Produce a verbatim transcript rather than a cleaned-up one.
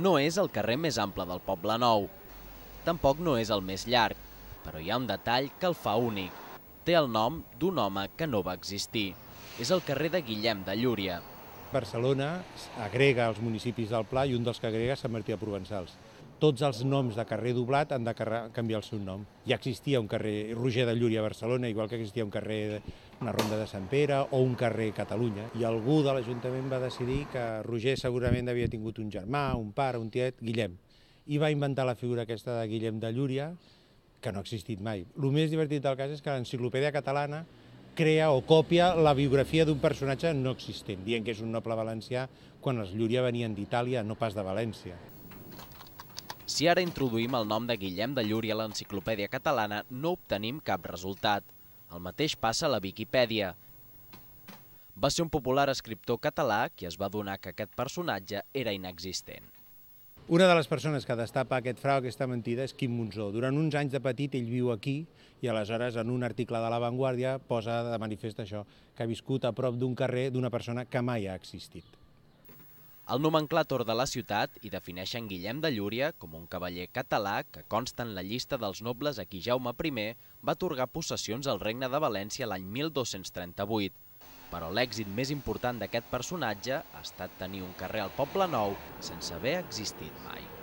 No és el carrer més ample del Poblenou. Tampoc no és el més llarg, però hi ha un detall que el fa únic. Té el nom d'un home que no va existir. És el carrer de Guillem de Llúria. Barcelona agrega els municipis del Pla i un dels que agrega és Sant Martí de Provençals. Tots els noms de carrer doblat han de canviar el seu nom. Ja existia un carrer Roger de Llúria a Barcelona, igual que existia un carrer, una ronda de Sant Pere o un carrer Catalunya. I algú de l'Ajuntament va decidir que Roger segurament havia tingut un germà, un pare, un tiet, Guillem. I va inventar la figura aquesta de Guillem de Llúria, que no ha existit mai. El més divertit del cas és que l'Enciclopèdia Catalana crea o copia la biografia d'un personatge no existent, dient que és un noble valencià quan els Llúria venien d'Itàlia, no pas de València. Si ara introduïm el nom de Guillem de Llúria a l'Enciclopèdia Catalana, no obtenim cap resultat. El mateix passa a la Viquipèdia. Va ser un popular escriptor català qui es va adonar que aquest personatge era inexistent. Una de les persones que destapa aquest frau, aquesta mentida, és Quim Monzó. Durant uns anys de petit ell viu aquí i aleshores en un article de La Vanguardia posa de manifest això, que ha viscut a prop d'un carrer d'una persona que mai ha existit. El nomenclàtor de la ciutat hi defineixen Guillem de Llúria com un cavaller català que consta en la llista dels nobles a qui Jaume primer va atorgar possessions al Regne de València l'any mil dos-cents trenta-vuit. Però l'èxit més important d'aquest personatge ha estat tenir un carrer al Poblenou sense haver existit mai.